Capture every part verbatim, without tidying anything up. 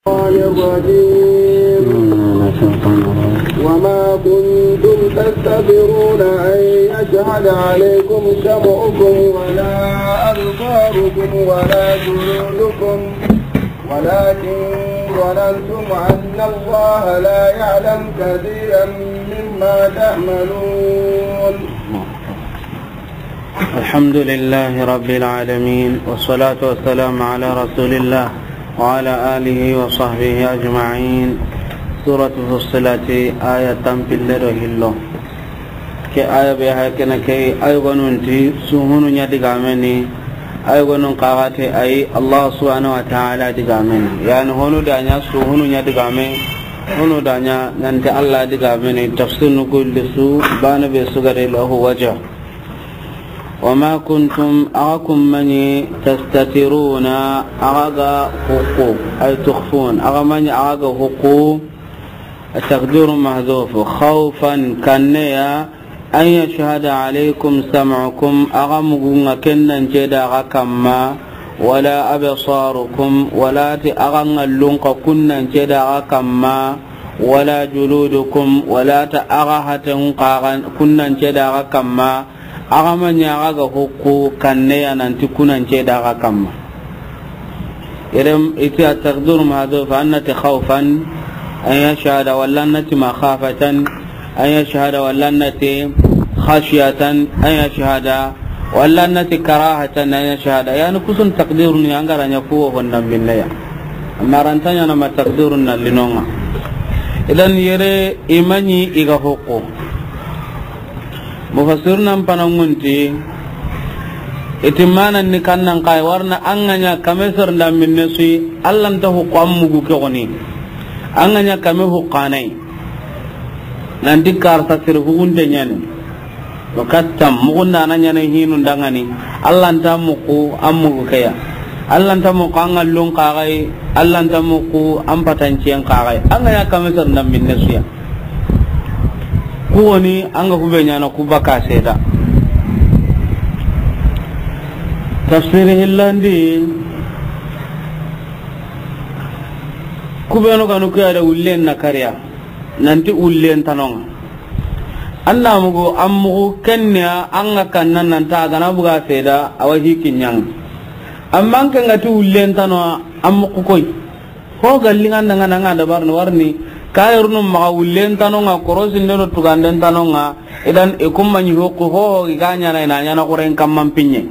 الشيطان الرجيم. وما كنتم تستترون أن يشهد عليكم سمعكم ولا أبصاركم ولا جلودكم ولكن ظننتم أن الله لا يعلم كثيرا مما تعملون. الحمد لله رب العالمين، والصلاة والسلام على رسول الله وعلى آله وصحبه أجمعين. سورة فصلت، آية تنبيل دو هلو. Ke aya be ha kene ke, ay gonunti suhunu ɲa digameni, ay gonun kaxate ay Allah subhanahu wa ta'ala digameni. Yani honu da ɲa suhunu ɲa digame, honu da ɲa nanti Allah digameni. Tafsir nu kulli su bana be sugare lahu wajh. وما كنتم، axa kun maɲi, تستترون، axa ga hukku, أي تخفون، axa maɲi axa ga hukku. التقدير محذوف، خوفا، kanneya, أن يشهد عليكم سمعكم، axa mugunga kennan ceda axa kamma, ولا أبصاركم، wala ti axa ngallun ka kunnan ceda axa kamma, ولا جلودكم، wala ta axa haten kaxa kunnan ceda axa kamma, axa maɲi axa ga hukku kanneya nanti kunan ceda axa kamma. Yerem iti التقدير محذوف، أن نتي خوفا أن يشهد، ولا أن نتي مخافة أن يشهد، ولا أن نتي خشية أن يشهد، ولا أن نتي كراهة أن يشهد. Yani kusun تقدير ni angara ɲa kuwo honnan binneya. Amma rantanya na ma تقدير na linonga. Idan yere i maɲi i ga hukku. Mufassiruna n panangunti, iti manan ni kannan kay warna an ga ɲa kame sor nda minne sui, Allah nta hukku an mugu ke goni. An ga ɲa kame hukkanai. Nanti karsa sir hugunte ɲani. Wa kattam, mugunda na ɲana hinu ndangani. Allah nta muku, an mugu keya. Allah nta muku an ngallun kaxay, Allah nta muku an patanciyen kaxay. An ga ɲa kame sor nda minne suya. Ku woni an ga hube ɲana ku baka seda. Tafsiri hillandi, kubenu ganu kuya da wullen na kariya. Nanti wullen tanonga. An na mugu, an mugu kenniya, an ga kanna nanta a gana buga seda, awa hiki ɲang. Amma an ke ngati wullen tano, an mugu koy. Ho gallinga nanga nanga dabarni warni, kayirunu maga wullen tanonga, korosinde do tuganden tanonga, idan i kumma ɲi hokku ho, ho i ga ɲana ina ɲana kuren kamman pinye.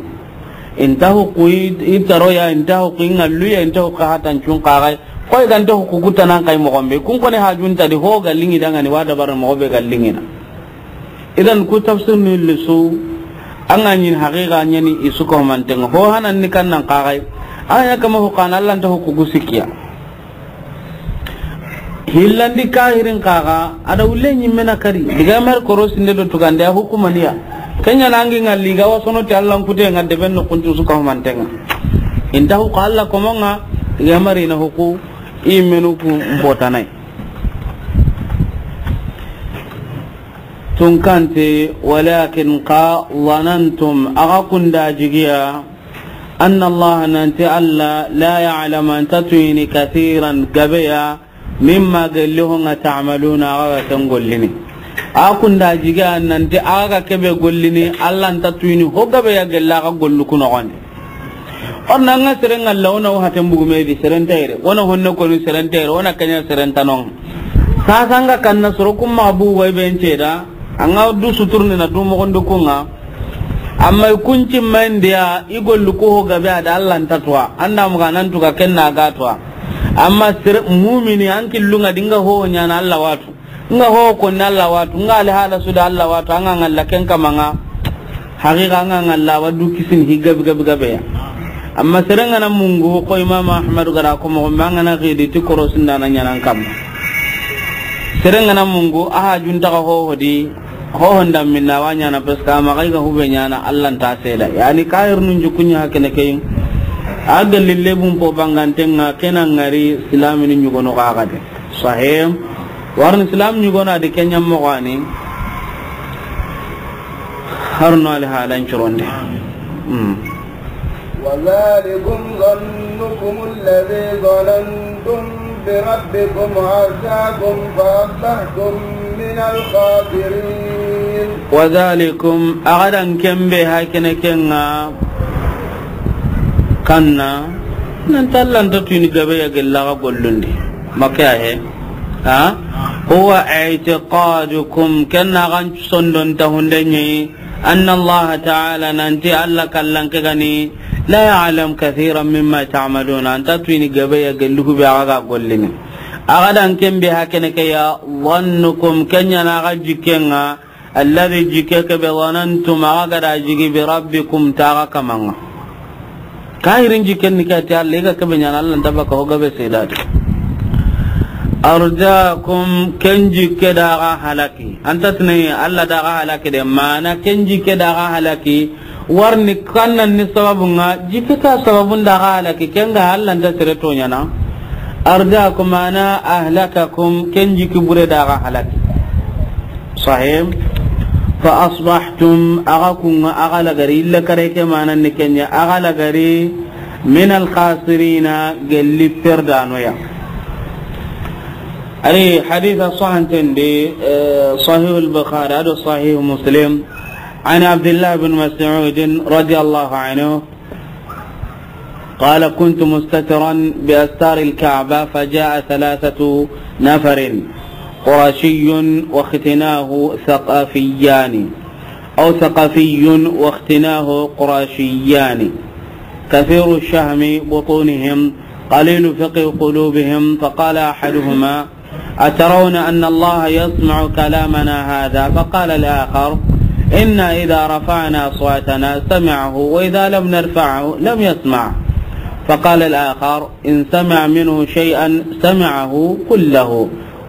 Inta hukku i, i taroya, inta hukku i ngalluya, inta hukku hatancun kaxay. Koy ganta hukku kutanan kay moxon be. Kun kone hajunta di ho ga lingi dangani wa dabara moxo be ga lingina. Idan ku tafsir ni lisu, an ga ɲin haqiqa ɲani i su ko mantenga. Ho hanan ni kannan kaxay. An ya kama hukana Allah nta hukku gusikiya. Hillandi kahirin kaga, ada wulle ɲimmena kari. Diga mar korosinde do tugande a hukumaniya. Kenya nangi ngalli ga wasono ti Allah nkute nga deben no kuntu su ka humantenga. Inta huku Allah komonga, diga mari na huku, i menu ku mbotanai. Tunkante, walakin ka zanantum, aga kunda jigiya, anna Allah, nanti Allah, la ya'lamu, anta tuyini, kathiran, gabeya, mimma, gelli ho nga, ta'maluna, aga ga ken gollini. A kunda jiga nanti aga ga kebe gollini, Allah nta tuyini ho gabeya gella aga gollu ku noxondi. Orna nga seren nga la, wona wo haten bugume di seren tayre, wona honne koni seren tayre, wona kenya seren tanon. Sasa nga kanna soro kumma bugu way ben ceda, anga du suturni na du moxondi kunga. Amma i kunci mandiya, i gollu ko ho gabe ada Allah nta tuwa. Anda muga nan tuga kenna ga tuwa. Amma sir mumini an killunga dinga ho ɲana Allah watu. Nga ho ko na Allah watu. Nga ali hala su da Allah watu. Anga ngalla ken kamanga. Haqiqa anga ngalla wadu kisin hi gabe gabe gabe ya. Amma serengana mungu ko Imam Ahmad gara ko mo mangana gidi ti korosinda na ɲanan kam. Serengana mungu aha junta ho hodi. Ho honda minna wa ɲana, parce que ama ga hube ɲana Allah nta seda. Yani kahirnun jukunya hakene kay. A galli lebun po bangantenga kena ngari silamini ɲugono gagade. Sahih. Warni silam ɲugono adi kenya mogani. Harno ali halan curonde. Hmm. وذلكم ظنكم الذي ظننتم ربكم أرداكم فأصبحتم من الخاسرين. وذلكم، a ga da ken be hakene ke ŋa, kanna, nan ti Alla nta tuyini gabe ya gella ga gollundi. Make ya he. Ha? هو اعتقادكم، ken na xa sondon ta hunde ɲi, أن الله تعالى، nan ti Alla kallanke ga ni, لا يعلم كثيرا مما تعملون، a nta tuyini gabe ya gellu ku be a ga gollini. A ga da ken be hakene ke ya, ظنكم، ken ɲa na xa jikke ŋa, الذي، jikke ke be, ظننتم، a xa ga da jigi, بربكم، ti xa kaman ŋa. Kahirin jikken ni ke ti Alla, i ga ke be ɲaana Alla nta baka ho gabe seedadi. أرداكم، ken jikke da xa halaki. A nta tini Alla da xa halaki de, maana ken jikke da xa halaki. Warni kannan ni sababun ŋa, jikke ke sababun da xa halaki, ken ga Alla nta sere to ɲaana. أرداكم، maana أهلككم، ken jikki bure da xa halaki. Sahih. فأصبحتم، a xa kun ŋa, a xa lagari, illa kare ke maana ni ken ɲa, a xa lagari, من الخاسرين، gelli perdano ya. Ari haditha sahanten di, eh, Sahih al-Bukhari, ado Sahih Muslim, عن عبد الله بن مسعود رضي الله عنه، قال: كنت مستترا بأستار الكعبة، فجاء ثلاثة نفر، قرشي واختناه ثقفيان، أو ثقفي واختناه قرشيان، كثير شهم بطونهم، قليل فقه قلوبهم، فقال أحدهما: أترون أن الله يسمع كلامنا هذا؟ فقال الآخر: إنا إذا رفعنا أصواتنا سمعه، وإذا لم نرفعه لم يسمع. فقال الآخر: إن سمع منه شيئا سمعه كله.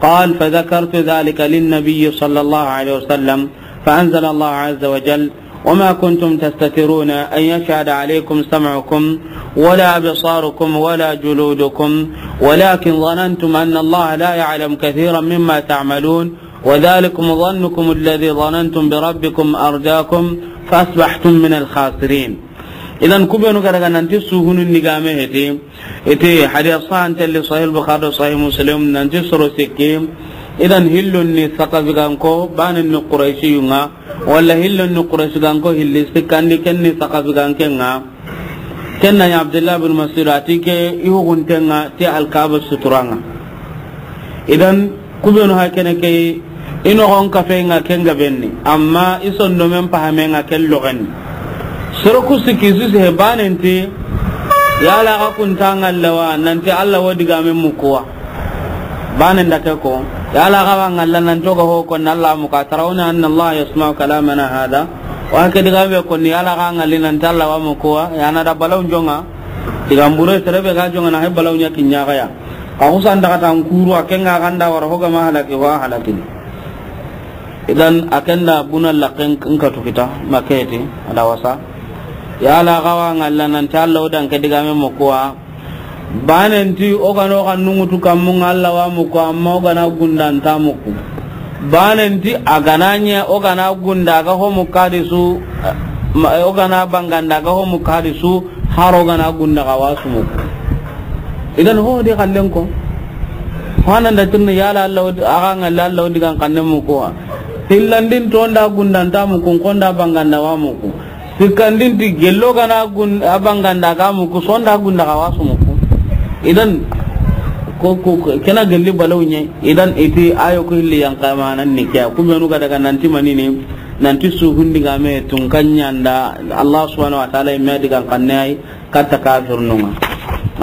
قال: فذكرت ذلك للنبي صلى الله عليه وسلم، فأنزل الله عز وجل: وما كنتم تستترون أن يشهد عليكم سمعكم ولا أبصاركم ولا جلودكم، ولكن ظننتم أن الله لا يعلم كثيرا مما تعملون، وذلكم ظنكم الذي ظننتم بربكم أرداكم فأصبحتم من الخاسرين. Idan, ku benu ga daga nanti suhunun digame heti, iti hadis sahan telli Sahih Bukhari do Sahih Muslim, nanti soro sikki. Idan, hillun ni Saqafi ganko, banen ni Qurayshiyun ŋa, walla hillun ni Qurayshi ganko hilli sikkandi, ken ni Saqafi ganke ŋa. Ken na ɲa Abdullah bin Mas'ud a ti ke i hugunten ŋa ti Alkaaba suturan ŋa. Idan, ku benu hakene ke, i noxon kafe ŋa ken gabenni, amma i sondomen pahame ŋa ken loxenni. Soro ku sikki su se banen ti, yala xa kun ta ŋalla wa, nanti Alla wo digame muku wa. Banen da ke ko, yala xa wa ŋalla nanti o ga ho ko na Alla muku, أترون أن الله يسمع كلامنا هذا؟ Wa ke digame ko ni, yala xa ŋalli nanti Alla wa muku wa, ya na da balaw jonga. Digan bure sere be ga jonga na he balaw ɲa kiɲa ga ya. Ka husan daga tan kuru a ken ŋa ganda wara ho ga ma halaki wa halakini. Idan a ken da buna laken nka tukita maketi a da wasa. Yala xa wa ŋalla nanti Alla o dan ke digame muku wa. Banen ti o ga na o ga nungutu kammun ŋa Alla wa muku, amma o ga na gunda nta muku. Banen ti a ga na ɲa o ga na gunda ga ho muku hadisu, ma, o ga na banganda ga ho muku hadisu, har o ga na gunda ga wa su muku. Idan ho di xallen ko. Ho nan da tirni yala Alla o di, a ga ŋalla Alla o digan xanne muku wa. Hillandin to nda gunda nta muku, ko nda banganda wa muku. Sikkandin ti gello ga na gun-, a banganda ga muku, sonda gunda ga wa su muku. Idan, ko, ko, ko, kena gelli balaw ɲe. Idan, iti ayo ko hilli yan kamanan ni kiya. Ku benu ga daga nanti manini, nanti suhun digame tun kan ɲa nda Allah subhanahu wa ta'ala i me digan kanne ay katta kafirnun ŋa.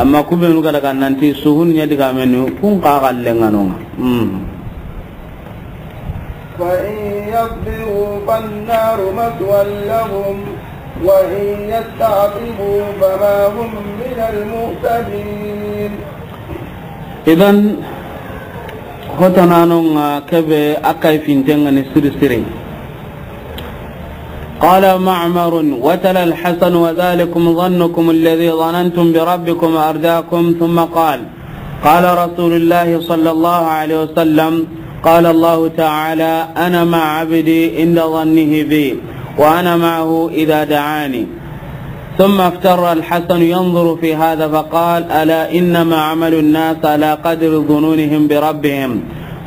Amma ku benu ga daga nanti suhun ɲa digame nu kun ka gallen ŋa no ŋa. Hmm. فإن يصبروا فالنار مثوى لهم وإن يستعتبوا فما هم من المعتبين. Idan, hotananun ŋa kebe a kay finten ŋa ni siri siri. قال معمر: وتلا الحسن: وذلكم ظنكم الذي ظننتم بربكم أرداكم، ثم قال: قال رسول الله صلى الله عليه وسلم: قال الله تعالى: أنا مع عبدي عند ظنه بي، وأنا معه إذا دعاني. ثم افتر الحسن ينظر في هذا فقال: ألا إنما عمل الناس على قدر ظنونهم بربهم،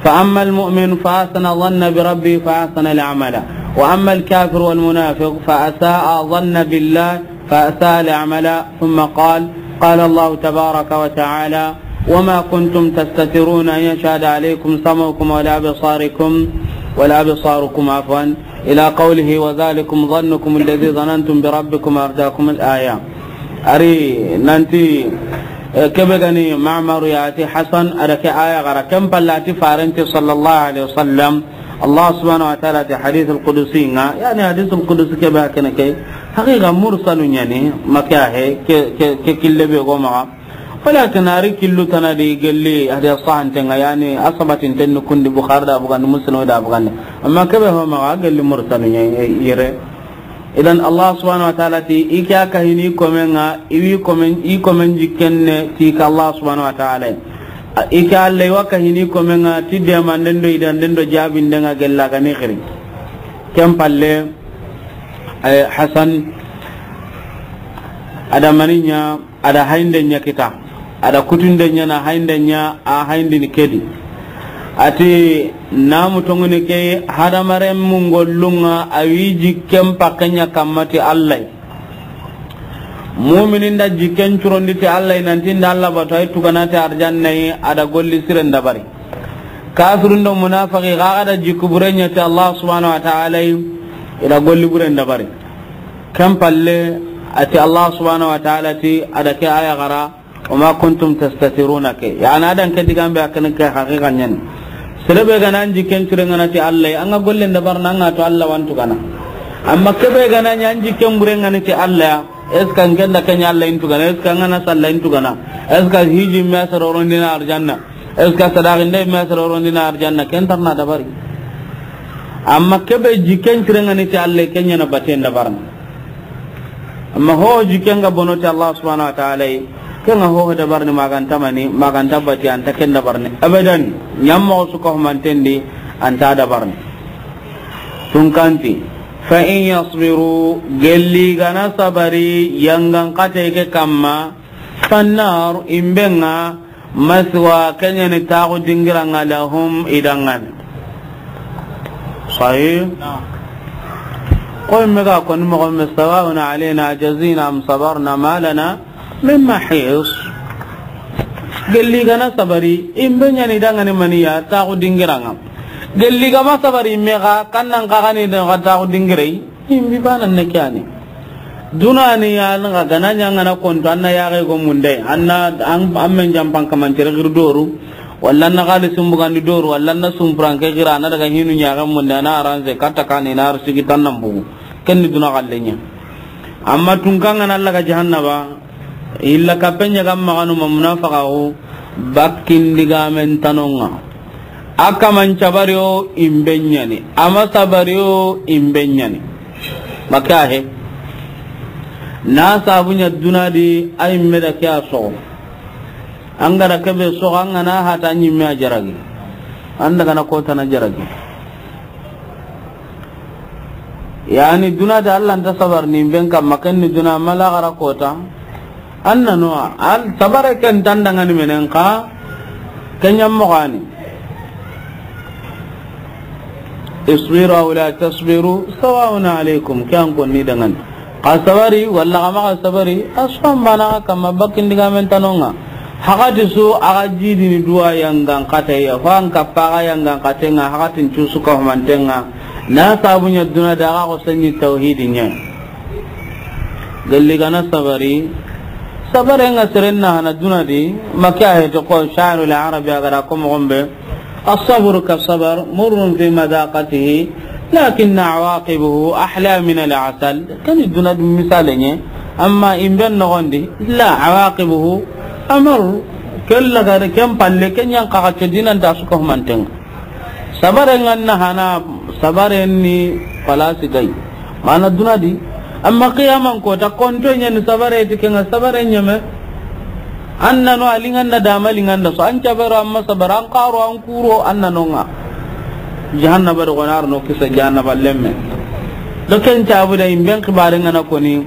فأما المؤمن فأحسن ظن بربه فأحسن العمل، وأما الكافر والمنافق فأساء ظن بالله فأساء العمل. ثم قال: قال الله تبارك وتعالى: وما كنتم تستترون أن يشهد عليكم سمعكم ولا أبصاركم، ولا أبصاركم، عفوا، إلى قوله: وذلكم ظنكم الذي ظننتم بربكم أرداكم الآية. Ari nanti, eh, kebe gani Ma'mar ya ti Hasan, a da ke aya xara, ken palle a ti farenti sallallahu alaihi wasallam, Allah subhanahu wa ta'ala ti hadith al-qudsi nga, yani hadith al-qudsi kebe a kene ke, haqiqa mursalu ɲa ni, ma ke a he, ke, ke, ke kille be go maxa. Walakin a ri killu tana di gelli hadiya sahanten ŋa, yani a sabatinten ni kundi Bukhari da bugandi, Muslim da bugandi. Amma kebe ho maxa gelli mursalu ɲa yere. Idan Allah subhanahu wa ta'ala ti, i ke a kahini komen ŋa, i wi komen, i komen jikken ne ti ka Allah subhanahu wa ta'ala. I ke Allah i wa kahini komen ŋa, ti demanden do idanden do jabinden ŋa gella ga ni xiri. Ken palle, eh, Hasan, a da mani ɲa, a da hayinde ɲa kita, a da kutunde ɲa na hayinde ɲa, a hayindini kedi. A ti, namu tongoni ke hadamaren mun gollun ŋa, a wi jikken pakke ɲa kamma ti Allah. Muminin da jikken curondi ti Allah, nanti nda Allah batu, ay tugana ti arjanna yi, a da golli siren dabari. Kafirun do munafiki xa ga da jikku bure ɲa ti Allah subhanahu wa ta'ala yi, i da golli buren dabari. Ken palle, a ti Allah subhanahu wa ta'ala ti, a da ke aya xara, وما كنتم تستترون ke. Yani a da ke digan be a kene ke haqiqa ɲa ni. Sere be ga na an jikken curen ŋa na ti Allah, an ga gollen dabarni an ga to Allah wa an tugana. Amma kebe ga na ɲa an jikken buren ŋa ni ti Allah, est-ce que an ken da ke ɲa Allah in tugana, est-ce que an ga na salla in tugana, est-ce que hiji me sere worondini arjanna, est-ce que sadaqinde me sere worondini arjanna, ken nta na dabari. Amma kebe jikken curen ŋa ni ti Allah, ken ɲa na baten dabarni. Amma ho jikken ga bono ti Allah subhanahu wa ta'ala yi, ken ŋa ho dabarni ma ga nta mani, ma ga nta bati, a nta ken dabarni. Abadan, ɲammoxo su ka humanten di, a nta dabarni. Tunkanti, فإن يصبروا, gelli ga na sabari, yangan xate ke kamma, فالنار, imben ŋa, مثوى, ken ɲa ni taxu dingira ŋa, لهم, i danŋa ni. Sahih? Naam. Ko imme ga koni moxo me, سواء علينا أجزعنا أم صبرنا ما لنا من محيص. Gelli ga na sabari, imbe ɲa ni danŋa ni maniya, taxu dingira ŋa. Gelli ga ma sabari, imme ga, kannan xa ga ni danŋa taxu dingire yi. Imbi bana ne kyani. Duna ni ya na ga na ɲa ŋa na konto, an na ya ga go munde, an na an, an men jampan kaman tere gir doru, walla an na xalisin bugandi doru, walla an na sumpuran ke gira, an na daga hinu ɲa ga munde, an na aranse katta kani na arsigi tan nan bugu. Ken ni duna xalle ɲa. Amma tunkan ŋa na laga jahannaba, illa kapen ɲa ga maxa no ma munafaqaxu, bakkin digamen tanonŋa. A kaman cabari o imbe ɲa ni, a ma sabari o imbe ɲa ni. Maka he. Na sabu ɲa duna di, a imme da ke a soxo. An ga da kebe soxo, an ga na hata ɲimme a jaragi. An daga na kota na jaragi. Yani duna da Allah nta sabarni imben kamma, ken ni duna, ma laxara kota. An na no, al sabare ken nta an danŋa ni menen xa, ken ɲa moxo ni. اصبروا أو لا تصبروا سواء عليكم, ke an konni danŋa ni. Xa sabari, walla xa maxa sabari, a su an bana xa kamma bakkin digamen tanonŋa. Haxati su a ga jidini duwa yangan xateya, fo an kappa ga yangan xatenŋa, haxatin cu su ka humantenŋa. Na sabu ɲa duna da ga ko sanni tawhidi ɲa. Gelli ga na sabari, sabare ŋa seren na hana duna di, maka he to ko sha'irul arabi a ga da ko moxo be. الصبر كالصبر مر في مذاقته لكن عواقبه أحلى من العسل. Ken ni duna dum misale ɲa, amma imben noxon di, la, عواقبه أمر. Ken laga ken palle, ken ɲa n xa ga te dinan ta su ka humantenŋa. Sabare ŋa na hana, sabare ni palasi gay. Mana duna di, amma qiyaman kota konto ɲa ni sabare ti, ken ŋa sabare ɲeme. An na no a linganda da ma linganda so, an cabaro, an ma sabaro, an xaro, an kuro, an na no ŋa. Jahannaba do gonar no kisa jahannaba lemme. Do ken cabu da imben xibare ŋa na koni.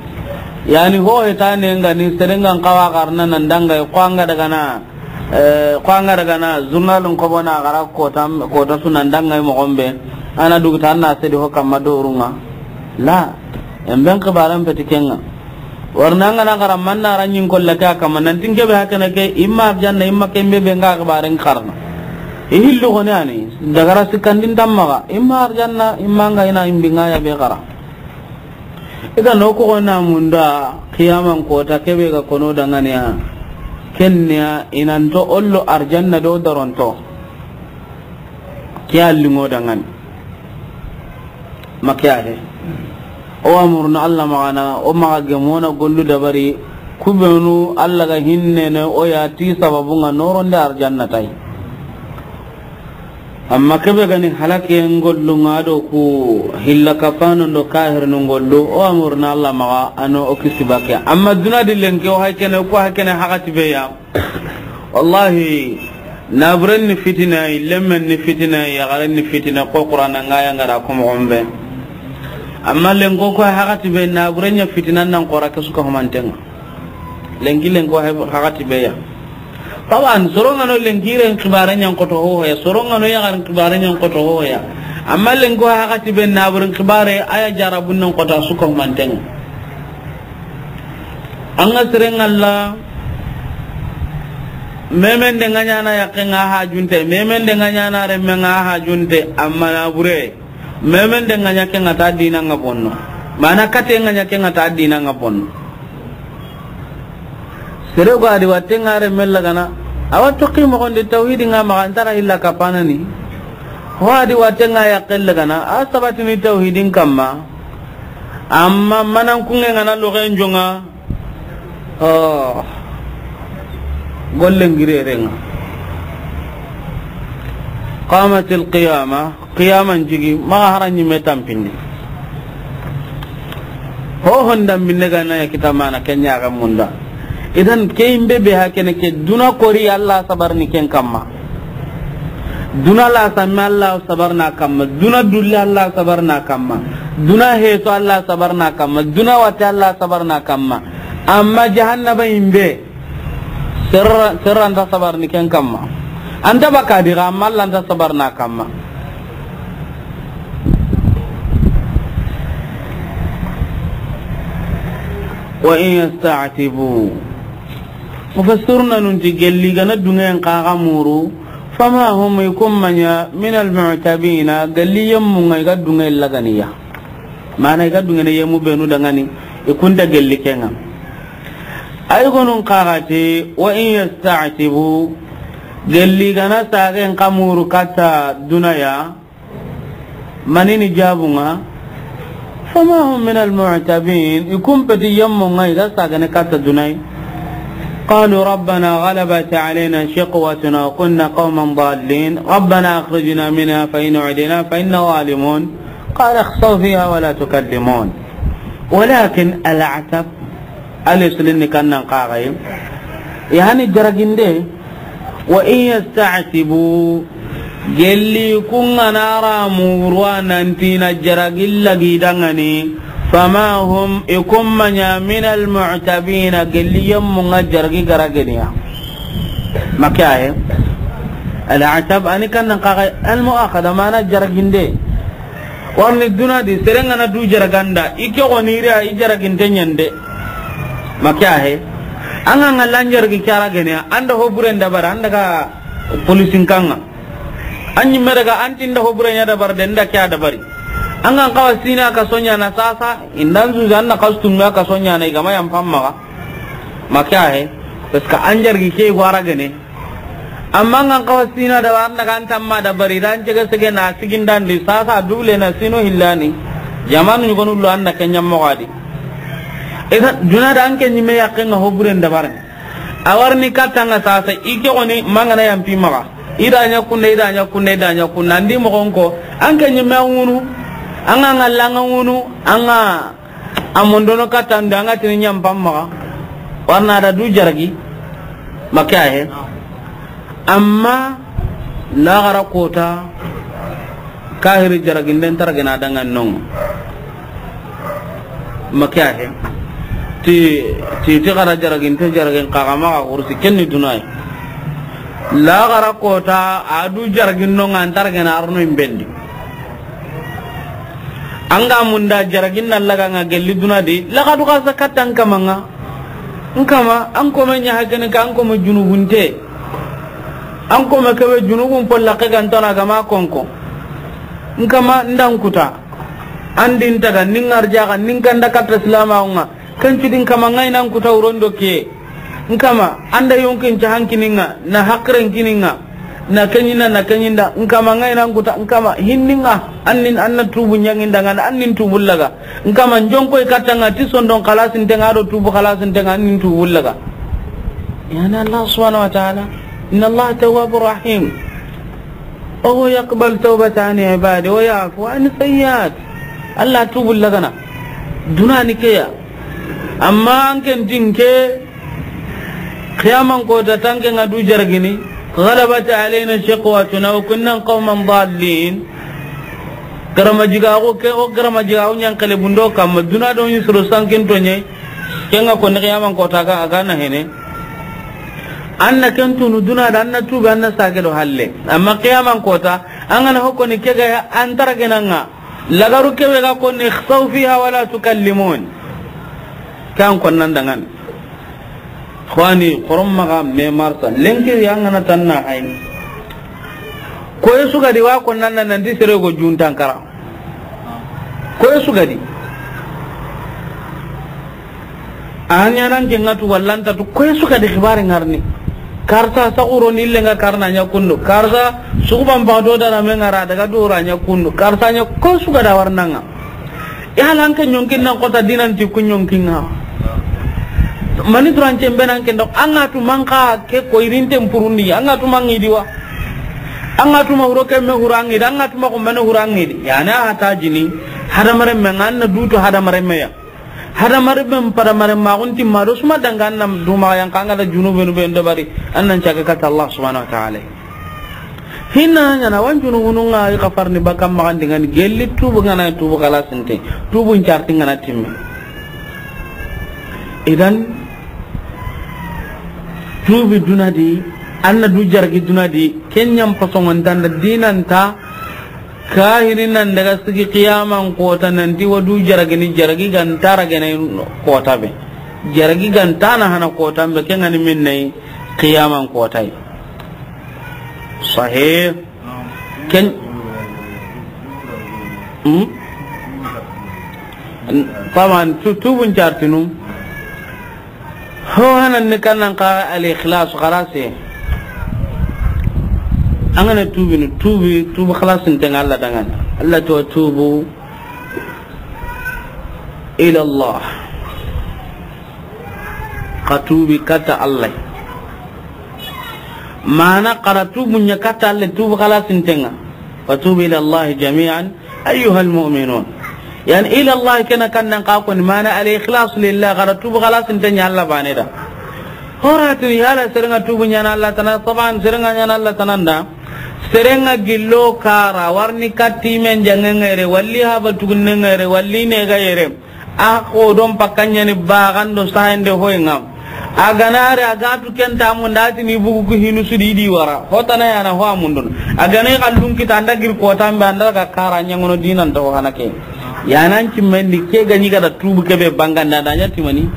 Yani ho hetane nga ni serengan kawa garna nan dangay ko anga daga na, eh, ko anga daga na journalun ko bona gara kota, kota su nan dangay mo gombe. Ana dugu tan na sedi ho kamma dorunga. La, en ben xibaran peti kenga. Warna nga na gara manna ranyin kolla ka kamma nan tinke be hakana ke imma arjanna imma kembe be nga xibaran karna. Ihillu goni ani dagara sikandin tammaga imma arjanna imma nga ina imbinga ya be gara. Ida no ko na munda qiyaman kota kebe ga kono danganiya. Kenya inanto ollo arjanna do daronto. Kiya lingo dangani. Makiya he. O amurna Allah magana, o maga gemona gollu dabari, kubenu Allah ga hinnene o ya ti sababunga noronde arjanna tay. Amma kebe gani halaken gollu nga do ku hilla kapano ndo kahirnu gollu, o amurna Allah maga ano o kisi bakke. Amma duna di lenke o haykene ko haykene hakati be ya. Wallahi, naburen ni fitina, lemmen ni fitina, yagaren ni fitina, ko Qur'ana nga ya ngara ko mo gombe. Amma lenko ko hakati be naburen ya fitina nan qora ke suka humantenga. Lenki lenko hakati be ya. Tawan, sorongano lenkiren kibare nyan koto ho ya, sorongano yagaren kibare nyan koto ho ya. Amma lenko hakati be naburen kibare aya jarabun nan kota suka humantenga. An ga seren Allah, memen de nga ɲana yakke nga hajunte, memen de nga ɲana remme nga hajunte, amma nabure. Memen de nga ɲa ke nga ta dina nga bonno. Mana kate nga ɲa ke nga ta dina nga bonno. Sere go adi watte nga remme lagana. Awa toqi moxon di tawhidi nga maxa antara illa kapanani. Ho adi watte nga yakke lagana. A sabatini tawhidin kamma. Amma manan kunge ngana loxen jonga. Oh. Gollen girerenga. Qamatil qiyama, qiyaman jigi, maxa hara ɲimme tampindi. Ho honda minne gana ya kita mana kenya ga munda. Idan ke imbe be hakene ke duna kori Allah sabar ni ken kamma. Duna la samme Allah sabarna kamma, duna dulle Allah sabarna kamma, duna heto Allah sabarna kamma, duna wate Allah sabarna kamma. Amma jahannaba imbe, serra, serra nta sabarni ken kamma. Anta baka diga, amma Allah nta sabarna kamma. Wa in yasta'tibu. Mufassiruna nunti gelli gana dungen kaga muru, fama hum ikumma ɲa min almu'tabina, gelli yemmu ngai ga dungen laganiya. Mana i ga dungene yemu benu dangani, i kunta gelli kenga. Ay gonun kaga ti, wa in yasta'tibu, gelli gana sagen kamuru kata dunaya, manini jabunga, fama hum min almu'tabin, i kumpeti yemmu ngai ga sagane kata dunai. قالوا ربنا غلبت علينا شقوتنا وكنا قوما ضالين ربنا أخرجنا منها فإن عدنا فإنا ظالمون قال اخسئوا فيها ولا تكلمون. ولكن العتب, alif silin ni kannan kagai. Yani jaraginde, wa in yasta'tibu, gelli kungana ra murwa nantina jaragilla gidangani, fama hum ikumma ɲa min almu'tabina, gelli yemmu nga jaragi garageniya. Makiyaye, al'atab ani kannan kagai almu'akhada mana jaraginde. Warni duna di, serengana du jaraganda, i ke goni ira, i jaraginte ɲande. Makiyahe. Anga nga lanjargi cara gene, anda hoburen dabara, anda ga polisin kanga. Anyi meraga anti nda hoburen ya dabar de, nda kya dabari. Anga kawa sina ka sonya na sasa, indan zuza na kastum ya ka sonya na igama yan pamma. Makiyahe. Parce que anjargi ke gwara gene. Amma ngan kawa sina da warna kan tamma da bari dan cege sege na sigindandi sasa dule na sino hillani. Jamanu ɲugonu lo anda kenya mogadi. Esa duna da anke ɲime yakke nga hoburen da barne. Awarni katanga sasa ike oni mangana yampi maga. Ida ɲa kunna, ida ɲa kunna, ida ɲa kunna. Andi mogonko anke ɲime ngunu. Anga nga langa ngunu. Anga A mondono katta nda anga tini ɲampam maxa, warna da du jaragi, makke ahe. Amma laxara kota, kahiri jaraginden taragena dangan non, makke ahe. Ti, ti, ti xara jaraginte jaragin xaxa maxa xursi, ken ni dunayi. Laxara kota, a du jaragin no ŋa, an taragena arno imbendi. An ga munda jaragin na laga ŋa gelli duna di, laxadu xa sa katta n kama ŋa. N kama, an kome ɲa hakene ka, an kome junubunte. An kome kebe junubun polla ke gantana gama konko. N kama ndan kuta. An din taga, nin arjaxa, nin kanda katta silamaxu ŋa. Ken cudi n kama ŋa i nan kuta wurondo ke. N kama, an da yonkin cahan kini ŋa, na hakiren kini ŋa, na keɲinda, na keɲinda. N kama ŋa i nan kuta, n kama hinni ŋa, an nin, an na tubu ɲaŋinda ŋa, an nin tubu laga. N kama n jonko i katta ŋa, ti sondon xalasinte ŋa, do tubu xalasinte ŋa, an nin tubu laga. Yani Allah subhanahu wa ta'ala, inna Allah tawwabur rahim. Wa huwa yaqbalu tawbata an ibadi wa ya'fu an sayyi'at. Allah tubu lagana. Dunani keya. Amma an ken tinke, qiyaman kota tanke ŋa du jaragini, ghalabat alayna shiqwatuna wa kunna qawman dallin. Garama jiga ko ke, o garama jiga o ɲan kale bundo kamma, duna do ni soro sankin to ɲe. Ken ŋa ko ni qiyaman kota ga, a ga na hene. An na ken tunu duna da, an na tubi, an na sage do halle. Amma qiyaman kota, an ga na hokko ni ke ga an taragena ŋa. Lagaru kebe ga konni, "Ikhsaw fiha wala tukallimun." Kan konnan dangan. Xwani, xorom maxa me marsa. Lenki yangana tanna hay. Koy sugadi wa konnan nan nanti sere go juntan kara. Koy sugadi. A ɲanan ke ŋa tu wallanta tu, koy suka di xibare ŋarni. Karsa saxuro ni le ŋa karna ɲa kundu. Karsa suguban ba do dara me ŋara daga dora ɲa kundu. Karsa ɲa koy suka da warnanga. Ya lan ke ɲonkin nan kota dinan ti ku ɲonkin ŋa. Mani duran cembe nan ke ndo, an ga tu manka ke ko irinten purundi, an ga tu mangi diwa. An ga tu ma huro ke me hurangi, an ga tu ma ko mane hurangi di. Ya na hata jini, hadamare me ŋa na duto hadamare me ya. Hadamare ben padamare ma gunti ma do suma danga an na duma yan kanga da junubenu ben dabari, an nan caga kata Allah subhanahu wa ta'ala. Hinna ɲana wan junubunu ŋa i kafarni bakam magan dingani gelli tubu ŋana tubu xalasinte, tubu ncarti ŋana timme. Idan tubi duna di, an na du jargi duna di, ken ɲam pasongon tanda dinanta. Kahini nan daga sigi qiyaman kota nanti wadu jaragini jaragi ganta ragene kota be. Jaragi ganta na hana kota be, ken ŋa ni min nayi qiyaman kota yi. Sahih. Ken. Hmm? Taban tu, tubun cartinu. Ho hanan ni kannan ka al ikhlas xarase. An ga na tubi ni tubi, tubi xalasin tenga Allah dangan. Allah to tubu ila Allah. Ka tubi kata Allah. Mana kara tubu nya kata Allah tubu xalasin tenga. Wa tubu ila Allah jami'an. Ayyuhal mu'minun. Yani ila Allah kena kannan ka ko ni mana al ikhlas lillah, kara tubu xalasin tanya Allah bane da. Horatin yala serenga tubu nyana Allah tana, saban serenga nyana Allah tananda. Serenga gillo kara warni katti men jange ngere, walli haba tugunne ngere, walli ne ga yere. A ko don pakanya ni bagando sahende hoyngam. A ganare a gatu kenta mun dati ni bugu ku hinu sudi di wara. Hotana yana ho amundun. A gane kallun kita anda gir kota mbe anda ka kara nyangono dinan to hana ke. Yanan cimmendi ke ganyi kada tubu kebe banganda da nya timani.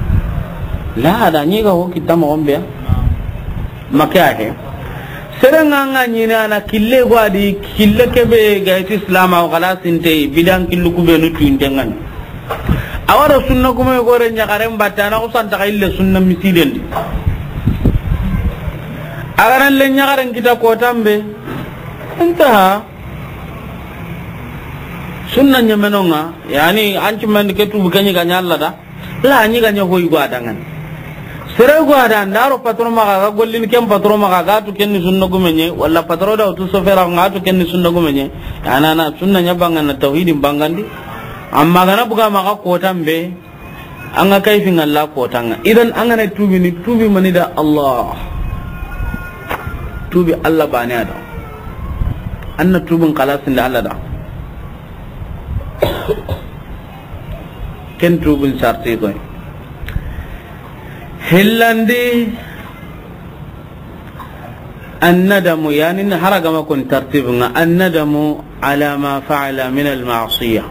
La da nyi ga ho kita mo ombe. Make ake. Serenga nga nyina na kille gwadi kille kebe ga iti islam aw kala sinte bidan killu kubenu tuindengan. Awara sunna kuma gore ɲaxaren batte, a na xusanta xa ille sunna misidendi. A ga na le ɲaxaren kita kotambe. Intaha. Sunna ɲemenonga, yani, an cimmendi ke tubu ke ɲi ga ɲa Allah da. La, a ɲi ga ɲa hoy gwa dangan. Sere gwa da ndaro patron maxa ga gollini ken patron maxa ga tu kenni sunna gumenye, wala patron da tu sofera ga tu kenni sunna gumenye. Anana sunna ɲa bangana tawhidin bangandi. Amma gana buga maxa kotambe, an ga kayfin Allah kotanga. Idan an gana tubi ni tubi mani da Allah. Tubi Allah bane ada. Anna tubin xalasin da Allah da. Ken tubin sarti koy. Hillandi, annadamu, yani, hara ga ma kun tartib nga, annadamu ala ma fa'ala min al ma'siya.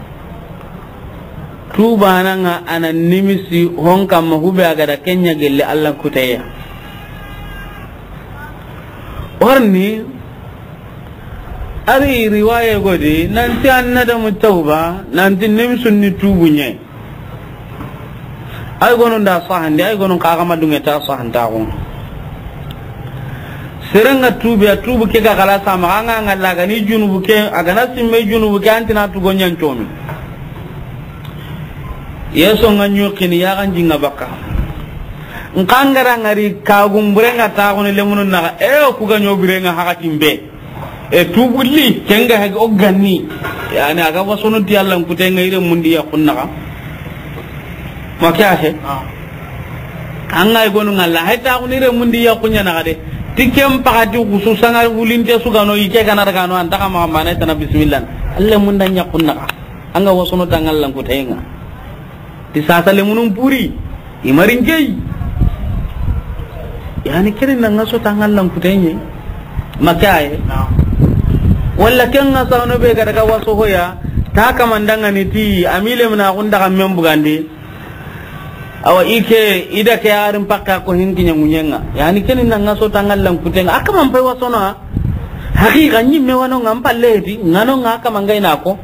Tuubana nga a na nimisi hon kamma hube a ga da ken ɲa gelle Alla kuteya. Warni, a ri riwaye godi, nanti annadamu tawba, nanti nimisun ni tuubu ɲa. Ay gonu nda sahandi, ay gonu ka ga ma dunge ta sahanta gon. Serenga tuubi, a tuubu ke ga xala sama, anga nga la ga ni junubu ke, a ga na simme junubu ke, antina tu gonyan comi. Yeso nga ɲokini, ya ga njinga baka. Nkangara ngari ka gumburenga ta goni lemunu na, e o ku ga ɲobirenga hakatin be. E tuubulli, ken ga hege o ganni. Yani, a ga wasono ti Alla n kutenga ire mundi ya kunnaga. Ma ke a he? An ga i gonu nga la, hay ta kun ire mundi ya kunya na de. Ti ken pakati kusu sanga wulinte su ga no, i ke ga na daga no, an ta ka ma mana tana bismillah. Alla munda ɲa kunnaga. An ga wasono ta nga Alla n kutenga. Ti sasa lemunun puri, i marin key. Yani, kene na nga so ta nga Alla n kutenye. Ma ke a ye? Walla ken nga sa no be ga daga waso hoya, ta kamandanga ni ti, a mi lemuna kun daga men bugandi. Awa, i ke, i da ke arin pakka ko hinki ɲa ŋuɲenga. Yani, kene na nga so ta nga Alla n kutenga. A kaman pay wasono a. Haqiqa ɲimme wano nga n palle ti, nga no nga kama nga i na ko.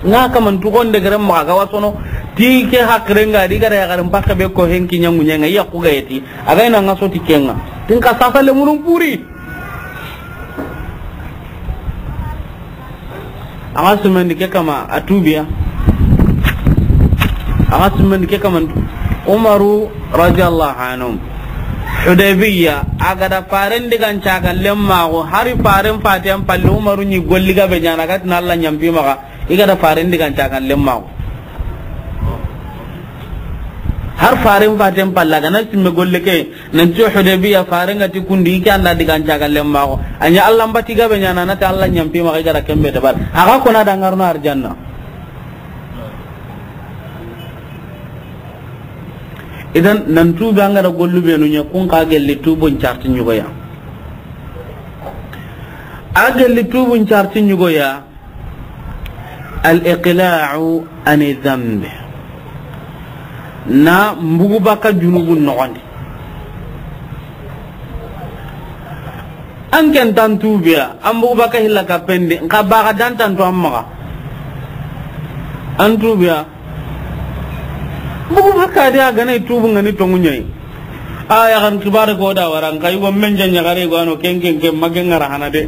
Nga kama n tugonde gere ma ga wasono, ti ke haqirenga di ga da ya garin pakka be ko hinki ɲa ŋuɲenga, ya ku ga yeti. A ga i na nga so ti kenga. Tin ka sasa lemunun puri. A ga sumendi ke kama a tuubiya. A ga sumendi ke kama Umaru radiyallahu anhu. Hudaybiya, a ga da faren digan cagan lemmaxu, hari faren faten palle Umaru ɲi golli ga be ɲana, a ga tina Alla ɲampi maxa, i ga da faren digan cagan lemmaxu. Har faren faten palle, a ga na simme golle ke, Nanti Hudaybiya farenga ti kundi, i ke anda digan cagan lemmaxu. A ɲa Alla mbati ga be ɲana, na ti Alla ɲampi maxa i ga da ken be dabari. A ga kona da ngarno arjanna. Idan, nan tuubi an ga da gollu be nu ɲa, kun xa gelli tuubun carti ɲugoya. A gelli tuubun carti ɲugoya. Al-iqla'u ani dhanbi. Na mbugu baka junubun noxondi. An ken tan tuubiya, an mbugu baka hilla kappendi, nxa baga dan tantu an maxa. An tuubiya. Mbugu baka de a ga na i tuubu nga ni tongu ɲa yi. A yaxan xibaare ko da wara, nxa yugo men ja ɲaxare go ano ken ken ken ma ken ŋara hana de.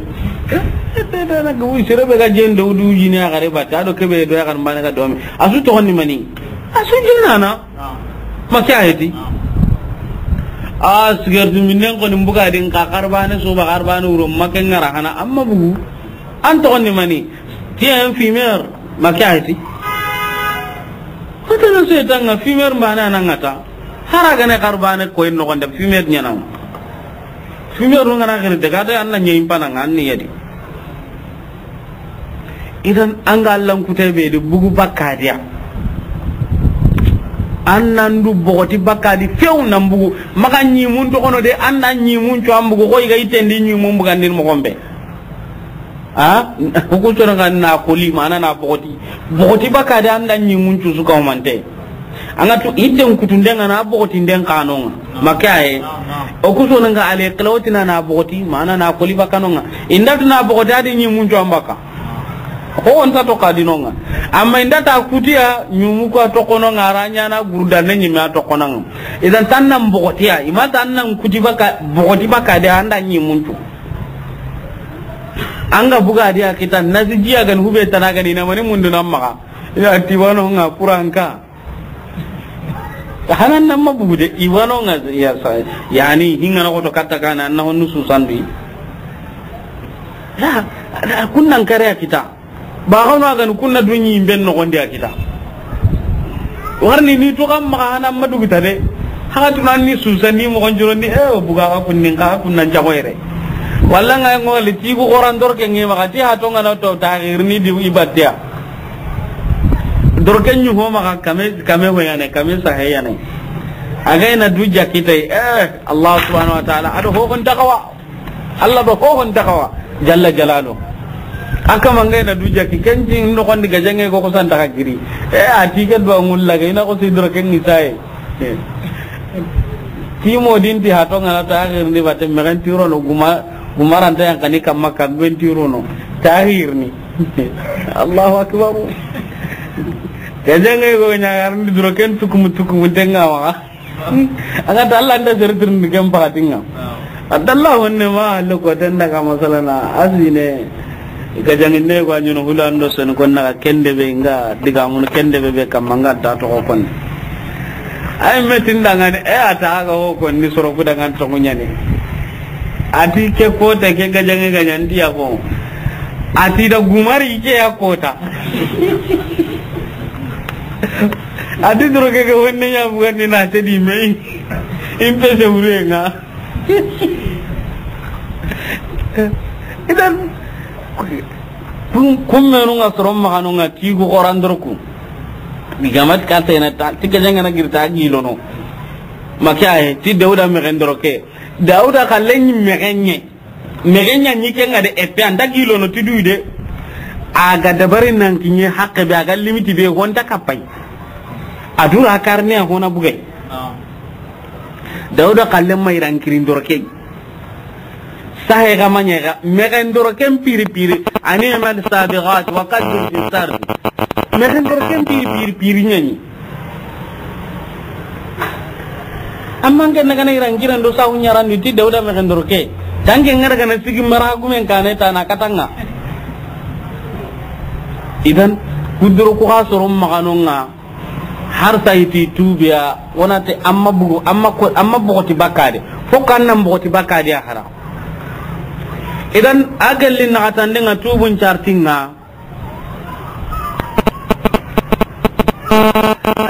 Sere be ga jen do du jini yaxare batte, a do kebe do yaxan bane ga domi. A su toxondi mani? A su jinnana. Ma ke a heti? A sigartu minen xoni mbuga di nxa xarbane suba xarbane wuro ma ken ŋara hana, amma bugu. An toxondi mani? Ti en fumeur, ma ke a heti? Hotana setan ŋa fumeur mbane a na ŋa ta. Hara gane xarbane koy noxonde fumeur ɲana. Fumeur ŋa na xiri daga de, an na ɲeyi pana ŋa, an ni yadi. Idan an ga Alla n kute be di bugu bakadiya. An nan du bogoti bakadi few nan bugu. Maxa ɲimun toxono de, an na ɲimun cu an bugu, xo i ga yitendi ɲimun bugandin moxon be. A, o ku sono ga na koli, mana na bogoti. Bogoti bakadi an da ɲimun cu su ka humante. An ga tu itten kutunden ŋa na bogotinden kanonga. Ma ke a ye? O ku sono ga ale kelawtina na bogoti, mana na koli bakanonga. Inda tu na bogoti a di ɲimun cu an baka. Ko on ta to kadinonga. Amma inda ta kutiya, ɲimu ko a toxononga, a ra ɲana gurda ne ɲime a toxonanga. Idan tan nan bogotiya, i ma tan nan kuti baka, bogoti bakadi an da ɲimun cu. An ga buga di a kita, nasi jiya gani hube tana gani na mani mundu nan maxa. Ina ti wano nga kuranka. Hanan nan ma bugu de, i wano nga ya sa, yani, hinga na xoto katta kana, na honnu su sandi. La, la, kunnan kare a kita. Ba gano a gani kunna dunyi ben no gondi a kita. Warni ni to kam maxa hana ma dugu ta de. Haka tunan ni susa ni mo gonjoro ni, e, o buga ka kunnin ka kunnan jago yere. Walla nga ngoli ti ku goran dorke ngi maxa ti ha to ngana to ta ni di ibatiya. Dorke nyu ho maxa kame, kame ho yane, kame sa he yane. A ga na du jakki tay, eh, Allah subhanahu wa ta'ala, a do hohon takawa. Allah do hohon takawa, jalla jalalu. A kama nga na du jakki, ken ti noxon di gajaŋe go ko san taka giri. Eh, a ti ke do ngulla ga i na ko sidro ken isaye. Eh. Ti mo din ti hato nga na ta akhir ni bate mexen tiro no guma, gumaranta yan kani kamma ka gwen tiro no. Ta akhir ni. Allahu akbar. Gajaŋe go ɲa garndi duro ken tukumu tukumu denga wa. An ga ta Allah nda sere tirindi ken pakatinga. Adalla honne ma halle ko ten daga masalana asine. Gajaŋinne ko a ɲono hula ndo sen kon naga kende be nga diga mun kende be be kamma nga da to ko kon. Ay metin dangane e a ta ga ho kon ni soro ku dangan to ɲani. A ti ke kota ke gajaŋe gaɲandi ya ko. A ti da gumari ke ya kota. A ti doro ke ke wonne ya bugandi na te di me. In pe se wure nga. Idan kun, kun menu nga soron magano nga ti gu xoran doro ku. Digamat ka tena ta ti ke janga na girta gilono. Maka he ti Dawuda mexen doro ke. Dawuda kallen mexenye. Mexenye ni kenga de epe anda gilono ti du de. A ga dabari nan kinye hakke be a ga limiti be honta kapay. A dura karne a hona bugay. Dawuda kallen ma iran kirin doro ke. Sahe ga manya ga mexen doro ken piri piri. Ani mal sabiqat wa qaddir fi sardi. Mexen doro ken piri piri piri ɲani. Amma nke na gana iran kiran do sahu ɲarandi ti Dawuda mexen doro ke. Tanke ngara gana sigi mara gumen kane tana katanga. Idan kuduro ku ga soron maganonga. Har sayiti tubiya wona te amma bugu amma ko amma bogoti bakade. Fo kan nan bogoti bakade a hara. Idan a galli naxatandenga tubun cartinga.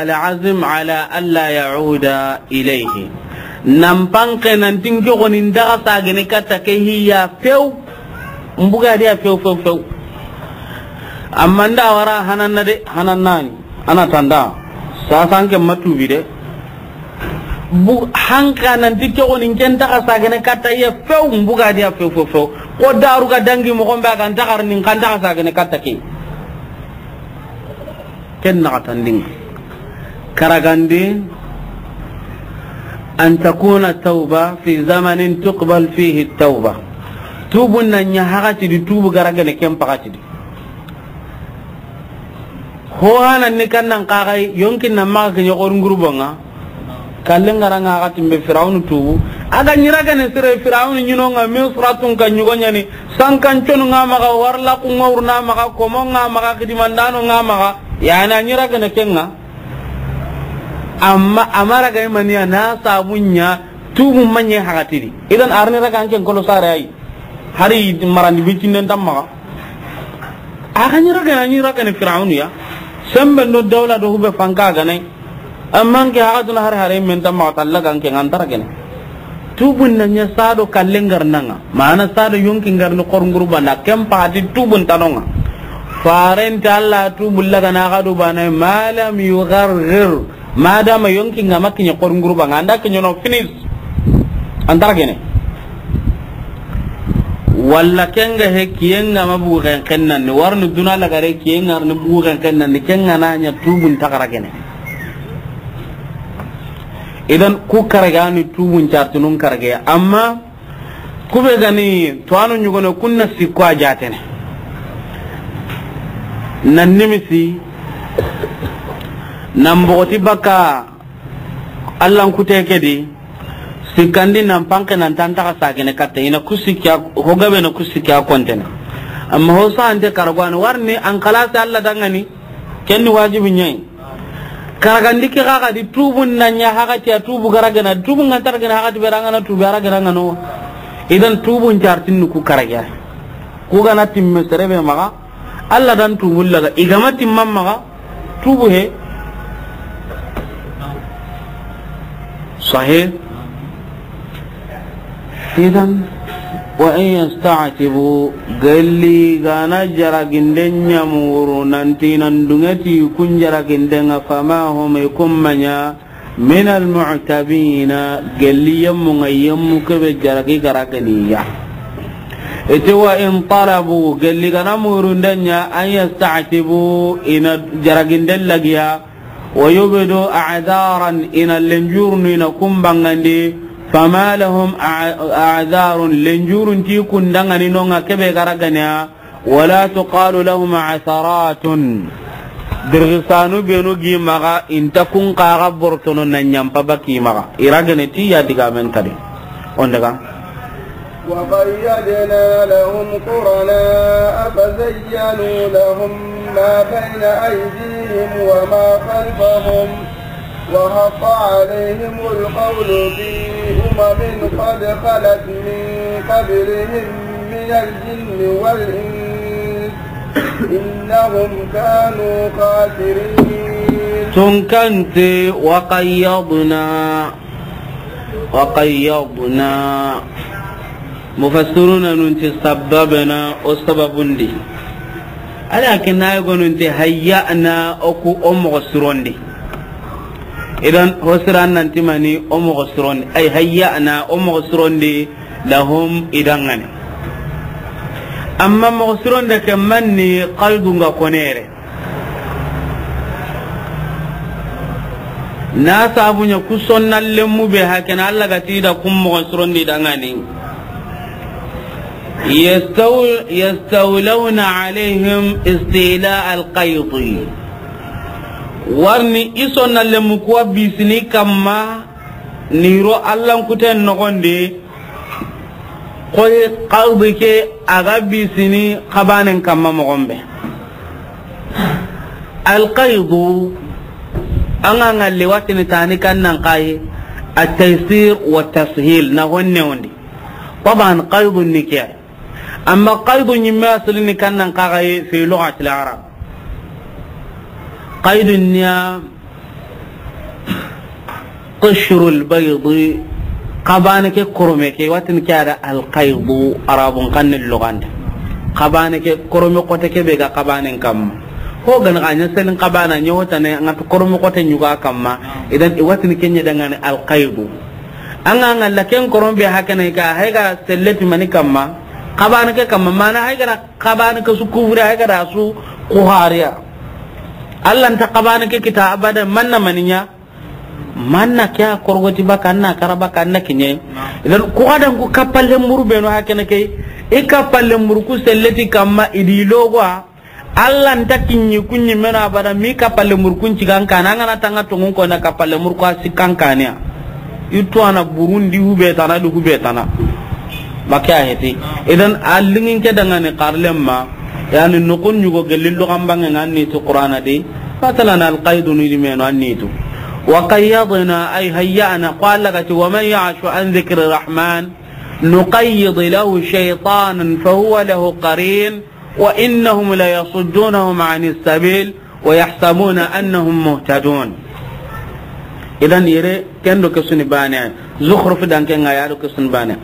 Al-azm ala alla yauda ilayhi. Nan panke nan tinke goni ndaga sagene katta ke hiya few. Mbuga dia few few few. Amma nda wara hananna de hanannani. Ana tanda. Sasanke matubi de. Bu hanka nan ti ke goni ken taxa sagene katta iya few mbuga dia few few few. Ko daru ga dangi mo gombe a kan taxar nin kan taxa sagene katta ke. Ken naxatandin. Karagandi. An takuna tawba fi zamanin tuqbal fihi tawba. Tubun nan ɲa haxati di tubu garagene ken paxati di. Ho hanan ni kannan kaxay yonkin nan maxa kiɲe xorun gurubonga. Kallen garanga xa timbe Firawunu tubu. A ga ɲira gane sire Firawunu ɲinonga Misratun ka ɲugo ɲani. Sankan conu nga maxa warla ku ngawruna maxa komo nga maxa kidimandano nga maxa. Yana ɲira gane kenga. Amma amara ga imaniya na sabunya tubu manye haxatidi. Idan arni raga anken kolo sare ay. Hari marandi bitinden tammaxa. A xa ɲi ragana ɲi ragana Firawunu ya. Sembe ndo dawla do hube fanka ganai. Amma nke haxa duna hari hare men tammaxa talla ganke ngantara gene. Tubun na ɲa sado kallen garnanga. Mana sado yonki ngarni xor ngurubana ken pati tubun tanonga. Farenta Allah tubu lagana xa do bana malam yugargir. Madama yonki nga ma kiɲe xor ngurubanga anda kiɲe no finis. Antara gene. Walla kenga he kiyenga ma bugu xenxennandi warni duna lagare kiyenga ni bugu xenxennandi kenga na ɲa tubun taxara gene. Idan ku karagani tubun cartunun karage amma Kube gani tuwanu ɲugone kunna sikko a jatene. Nan nimisi nan bogoti bakka Allan kute ke di. Sikkandi nan panke nan tantaxa sagene katta ina ku sikki a ho gabe na ku sikki a kontene. Amma ho sante karagwani warni an kalasi Allah dangani. Kenni wajibi ɲayi. Karagandi ke xa xa di tubun na ɲa haxati a tubu garagana tubu ngantar gana haxati berangana tubu aragana ngano. Idan tubun cartinni ku karage. Ku gana timme serebe maxa. Allah dan tubu laga igama timman maxa. Tubu he. Sahih. Idan wa in yasta'tibu galli gana jaraginden ɲamuru nanti nan dungeti kun jaraginden nga fama hum ikumma ɲa Min almu'tabina, gelli yemmu ŋa, yemmu kebe jaragi ga ra ga ni ya. I ti wa in talabu, gelli ga na murunde ɲa, an yasta'tibu, i na jaraginde lagiya, wa yubdu a'daran, i na lenjurunu, i na kun bangandi, fama lahum a-, a'darun, lenjurun ti kun dangani no ŋa kebe ga ra ga ni ya, wala tuqalu lahum atharatun. Dirgisanu benu gi maxa, i nta kun xa ga bortono na ɲampa baki maxa. I ra ga ni ti ya digamen tadi. On daga. وقيضنا لهم قرناء فزينوا لهم ما بين أيديهم وما خلفهم وحق عليهم القول في أمم قد خلت من قبلهم من الجن والإنس إنهم كانوا خاسرين. Tunkante, وقيضنا، وقيضنا. Mufassiruna nun ti sababana, o sababundi. Ala ke na yugo nun ti hayya'na, o ku o moxo sirondi. Idan, ho siran nan ti mani o moxo sirondi. Ay hayya'na, o moxo sirondi, lahum, i dangani. Amma moxo sironde ke manni, qaydun ga konere. Na sabu ɲa ku sonna lemmu be hakena Alla ga ti da kun moxo sirondi dangani. Yastaw-, yastawlawna alayhim istila alqayd. Warni i sonna lemmu kuwa bisini kamma ni ro Allan kuten noxondi. Koy qaydu ke a ga bisini xabanen kamma moxon be. Alqaydu, an ga ŋalli watini tani kannan kayi, at-taysir wa tashil, na honne wondi. Taban qaydu ni ke. Amma qaydu ɲimme asli ni kannan kayi fi lughati al-arab. Qaydu niya Qishrul baydi, xabane ke korome ke, watin ke a da alqaydu, Arabun xanne luganda. Xabane ke korome xote ke be ga xabanen kamma. Ho gana xa ɲa selin xabana ɲa hotane, ŋa ti korome xote ɲuga kamma. Idan, i watin ke ɲa dangane alqaydu. An ga ŋalla ken korome be hakene ka, hay ga selleti mani kamma. Xabane ke kamma, mana hay ga da xabane ke su kufri, hay ga da su kuhariya. Alla nta xabane ke kita abada, manna maniɲa. Manna ke a korgoti baka, anna kara baka, anna kiɲe. Idan, ku ga da ku kappalle muru benu hakene ke, i kappalle muru ku selleti kamma, i di logo a, Alla nta kiɲi ku ɲi mena abada, mi kappalle muru kun cigan kana, an ga na tanga tongun ko na kappalle muru ku a sikkan kaniya. I tu ana burundi hube tana, di hube tana. Make a heti. Idan, a lingin ke dangane xarlemma, yani, noxon ɲugo gelli lugan bange ŋa ni tu Qur'ana di. Masalan, alqaydu ni di meno an ni tu. Wa qayyadna, ay hayya'na, qala gati, wa man ya'shu an dhikri rahman, nuqayyid lahu shaytanan fa huwa lahu qarin, wa innahum la yasuddunahum anis sabil, wa yahsabuna annahum muhtadun. Idan yere, ken do ke su ni bane. Zukhruf dan ke ŋa ya do ke su ni bane.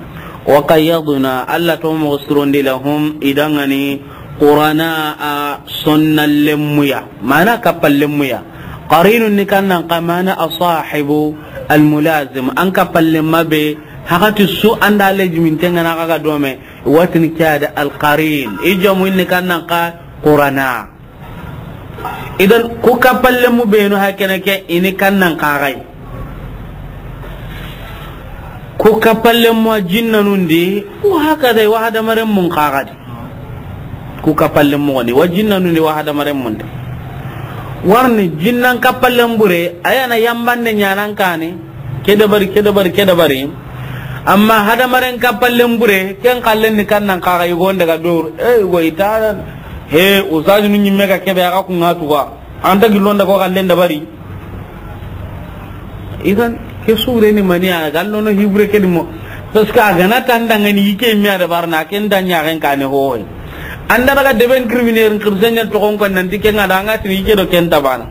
Wa qayyadna, Alla to mo surondi lahum, i dangani, qurana a sonna lemmuya. Mana kappalemmuya. Qarinun ni kannan xa mana asahibu almulazim. An kappalemma be, hakati su anda lejimin tengana xa ga dome, watin ke a da alqarin. I jamu ni kannan xa qurana. Idan, ku kappalenmu benu hakene ke, i ni kannan xa ga yi. Ku kappalenmu a jinnanun di, wa hakada wa hadamarenmun xa ga di. Ku kappalenmu ni, wa jinnanun di, wa hadamarenmun di. Warni jinnan kappalen bure, a ya na yambande ɲanan kane. Ke dabari, ke dabari, ke dabari. Amma hadamaren kappalen bure, ken kallen ni kannan xa ga yi go n daga dor. Eh, go i ta. He, ustazinu ɲimme ga kebe, a ga ku ŋa tuga. An ta gillon daga ko kallen dabari. Idan, ke sure ni mani a gallo no hibre ke di mo. Parce que a ga na tandangani i ke mi a dabarna, ken da ɲaxen kane hoy. An da daga deben criminel, kirisen ɲa toxon ko nanti ken ŋa da ŋa tini i ke do ken tabana.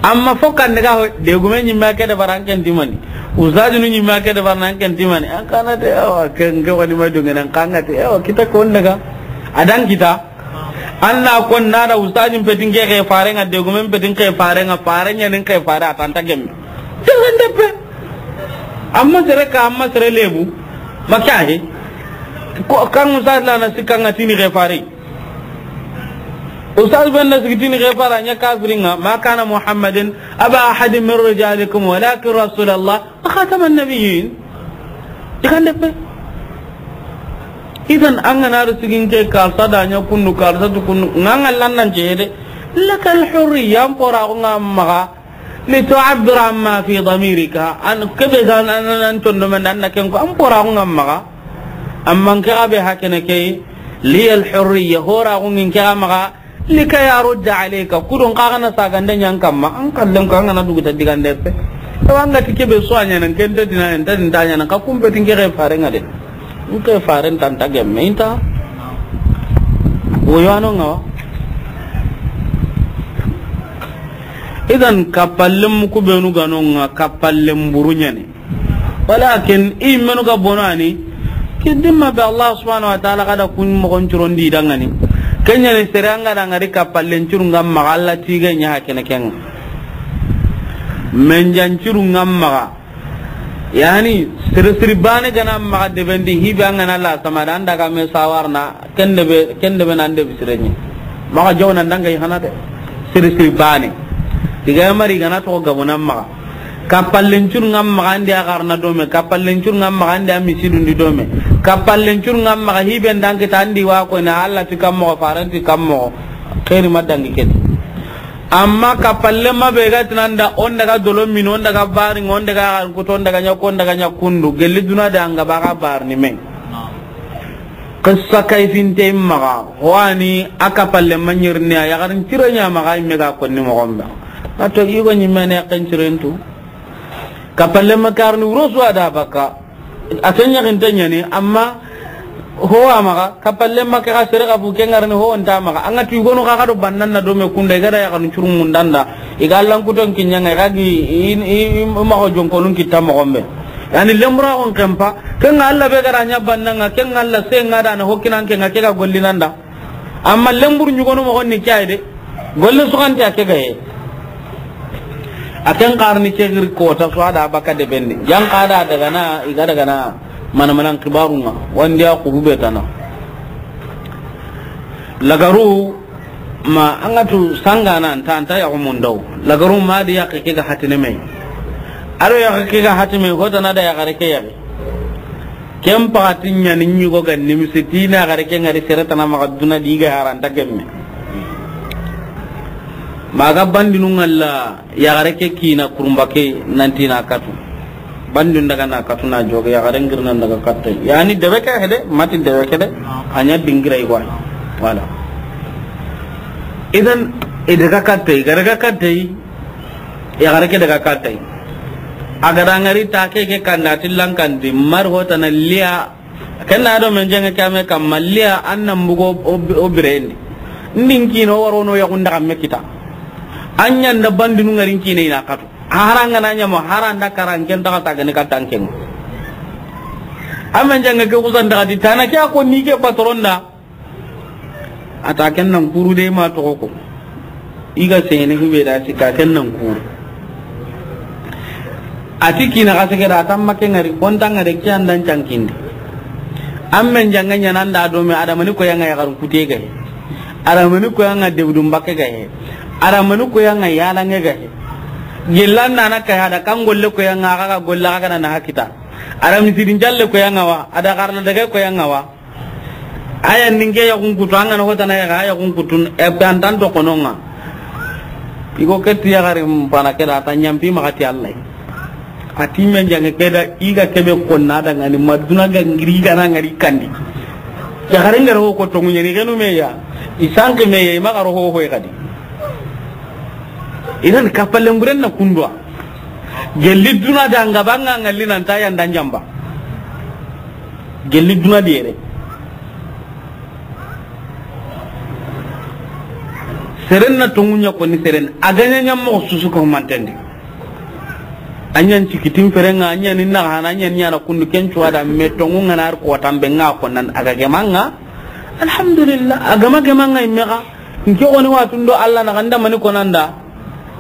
Amma fo kan daga ho, degume ɲimme ke dabari an ken ti mani. Ustazinu ɲimme ke dabari an ken ti mani. An kana te awa, ken ke wani ma dunge nan kanga te awa, kita kon daga. A dan kita. An na kon na da ustazin petin ke ke fare ŋa, degumen petin ke fare ŋa, fare ɲa nin ke fare a tanta gemme. Te wanda Amma sere ka, amma sere lebu. Maka he. Ko kan ustaz la na sikka nga tini ke fare. Ustaz ben na sikki tini ke fare nya kafiringa. Ma kana Muhammadin aba ahadin min rijalikum walakin Rasulallah wa khataman nabiyyin. Ikande pe. Idan an ga na ri sigin ke karsa da nya kundu karsa tu kundu. Nga nga lannan je de. Lakal hurriya, an pora ko nga maga. Li tu'abbira amma fi damirika, an kebe ga nan, an tondo men dan na ken ko an pora ko ngam maga. Amma ke ga be hakene ke, li al hurriya, hora ko ngin ke ga maga, li ka yarudda alayka, kudun ka ga na sagande nyan kamma, an kallen ko an ga na dugu ta digande pe. To an ga ti kebe so anya nan ken ta dinan ta din ta nya nan ka kumbe tin ke ga fare nga de. Nke faren tanta gemme inta. Woyano nga wa. Idan kapallem ku benu gano nga kapallem buru nyane. Walakin i menu ga bonani. Kidimma be Allah subhanahu wa ta'ala kada kun mo kon curondi dangani. Kenyani sere anga dangari kapallen curu ngam maga Allah tige nya hakene ken. Men jan curu ngam maga. Yani, siri siri bane gana maga debendi hibe an gana la sama da an daga me sawarna, ken debe, ken debe nan debi sirenye. Maga jawna ndanga yi hana de. Siri siri bane. Diga mari gana to gabuna maga. Kapallen cur ngam maga andi agarna dome, kapallen cur ngam maga andi amisidundi dome. Kapallen cur ngam maga hibe ndangi tandi wa ko na Allah ti kammo, faranti kammo. Khairi madangi kedi. Amma kappalle ma be ga tinanda, on daga dolo min, on daga bari, on daga kuto, on daga nyako, on daga nyakundu, gelli duna da anga baga barni men. Qissa kayfinte maga, wani a kappalle ma nyirni a yagarin cirenya maga imme ga konni mo gombe. Ato igo nyimme ne kan cirentu. Kappalle ma karni wuro su ada baka. A ken yaxinte ɲani, amma ho wa maxa, kappalle ma ke xa sere xa fu ke ŋarini ho nta maxa. An ga tu yogonu xa, xa do bannan na do me kunda, i ga da yaxanu curu mundanda, i ga Allan kuton kiɲa ŋa, i ga gi, i, i, i, i maxa jonkonun kitta moxon be. Yani, lemuraxun kempa, ke ŋa Alla be ga da ɲa bannan ŋa, ke ŋa Alla se ŋa da na ho kinan ke ŋa, ke ga gollinanda. Amma lemburu ɲugonu moxon ni ke ay de. Golle suxante a ke gaye. A ken xarni ke giri kota su a da baka de bendi. Yan xa da daga na, i ga daga na mana manan kibaru ŋa. Wandi a xuru be tana. Lagaru ma an ga tu sanga na anta, anta yaxu mundaw. Lagaru ma di yaxi ke ga hatine me. A do yaxi ke ga hatine me, hotana da yaxare ke yaxi. Ken paxati ɲani ɲigo ga nimisi ti na yaxare ke ŋari sere tana maxa duna di ga haranta gemme. Maxa bandinu ŋalla yaxare ke kina kurumba ke nanti na katu. Bandinu daga na katu na joge yaxare ngirna daga katte. Yani debe ke hede, mati debe ke de. A ɲa dingira i gwa. Voilà. Idan i daga katte, i ga daga katte. Yaxare ke daga katte. A ga da ŋari ta ke ke kanda ti lankandi mar hotana liya. Ken na do men jenge kame kamma liya an nan bugo o, o birendi. Ndin kino waro no yaxun daga me kita. An ɲa nda bandinu ŋarin kine i na katu. Haranga na ɲa mo haranda karan ken daga ta gani katan ken. Amen jenge ke kusan daga di tana ke a ko ni ke patron da. A ta ken nan kuru de ma toxo ko. I ga sene hube da sika ken nan kuru. A ti kina xa sege da, a tamma ke ŋari, konta ŋari ke andan cankindi. An men janga ɲana nda do me adamani ko yanga yaxarun kute ga he. Adamani ko yanga debudun bakke ga he. Adamani ko yanga yalange ga he. Gillan na na kaya da kan golle ko yanga xa ga golle xa ga na hakita. Adamani sidin jalle ko yanga wa, a da xarna daga ko yanga wa. Aya ninge yaxun kutu, an ga na hotana yaxa, a yaxun kutun, e, pe antan to kono ŋa. I go ke ti yaxare mpana ke da, a ta ɲampi maxa ti Alla. A ti men jange ke da, i ga kebe konna da ŋani, ma duna ga ngiri i ga na ŋari kandi. Yaxare ŋa ro ho ko tongu ɲani, xenu me ya. I sanke me ya, i maxa ro ho ho i xadi. Idan kappalle nguren na kundwa. Gelli duna da ŋa ba ŋa ŋalli nan ta yanda ɲamba. Gelli duna di yere. Seren na tongu ɲa koni seren. A ga ɲa ɲa moxo susu ko mantendi. A ɲa n cikitin ferenga, a ɲa ni na hana, a ɲa ni ɲana kundu ken cuwa da me tongu ŋa na ar ko tambe ŋa ko nan a ga gemanga. Alhamdulillah, a gama gemanga imme xa. Nke woni watundo Alla na ganda mani konanda.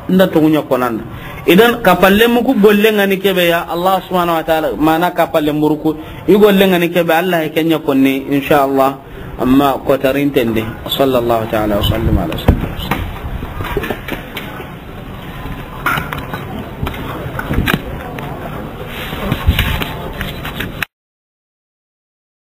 Nda tongunya konanda. Idan, kappalenmu ku gollen ŋa ni ke be ya, Allah subhanahu wa ta'ala, mana kappalenburu ku, i gollen ŋa ni ke be, Allah ya ken ɲa konni, insha Allah, amma kotarinten di. Sallallahu ta'ala wa sallam ala sayyidina